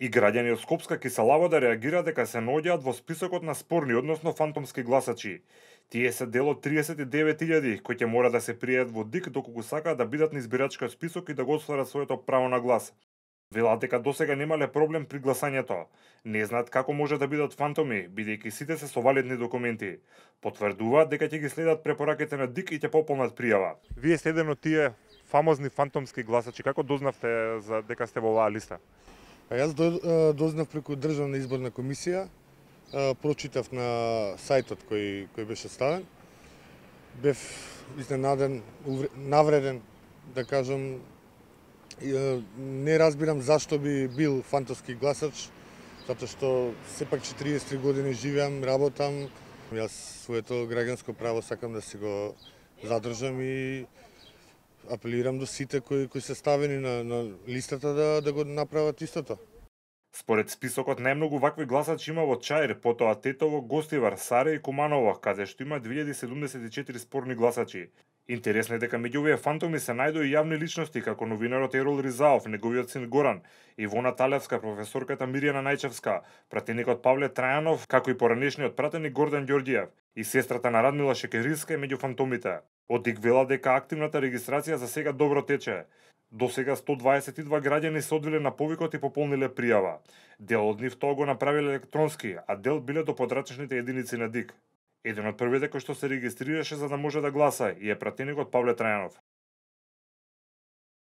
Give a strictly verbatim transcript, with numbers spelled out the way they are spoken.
И граѓани од Скопска Киселавода реагира дека се наоѓаат во списокот на спорни, односно фантомски гласачи. Тие се дел од триесет и девет илјади кои ќе мора да се пријават во ДИК доколку сакаат да бидат на избирачкиот список и да го остварат своето право на глас. Велат дека досега немале проблем при гласањето. Не знаат како може да бидат фантоми, бидејќи сите се со валидни документи. Потврдуваат дека ќе ги следат препораките на ДИК и ќе пополнат пријава. Вие сте еден од тие фамозни фантомски гласачи. Како дознавте за дека сте во оваа листа? А јас до, дознав преку Државна изборна комисија, прочитав на сајтот кој кој беше ставен. Бев изненаден, навреден, да кажам. Не разбирам зашто би бил фантомски гласач, затоа што сепак четириесет и три години живеам, работам. Јас своето граѓанско право сакам да си го задржам и апелирам до сите кои кои се ставени на, на листата да да го направат истото. Според списокот најмногу вакви гласачи има во Чаир, потоа Тетово, Гостивар, Саре и Куманово, каде што има две илјади седумдесет и четири спорни гласачи. Интересно е дека меѓу овие фантоми се најдоа и јавни личности како новинарот Ерол Ризаов, неговиот син Горан, Ивона Талевска, професорката Мирјана Најчевска, пратеникот Павле Трајанов, како и поранешниот пратеник Гордан Ѓорѓиев и сестрата на Радмила Шекериска е меѓу фантомите. Од ДИК вела дека активната регистрација за сега добро тече. До сега сто дваесет и два граѓани се одвиле на повикот и пополниле пријава. Дел од нив тоа го направиле електронски, а дел биле до подрачечните единици на ДИК. Еден од првите кој што се регистрираше за да може да гласа и е пратеникот Павле Трајанов.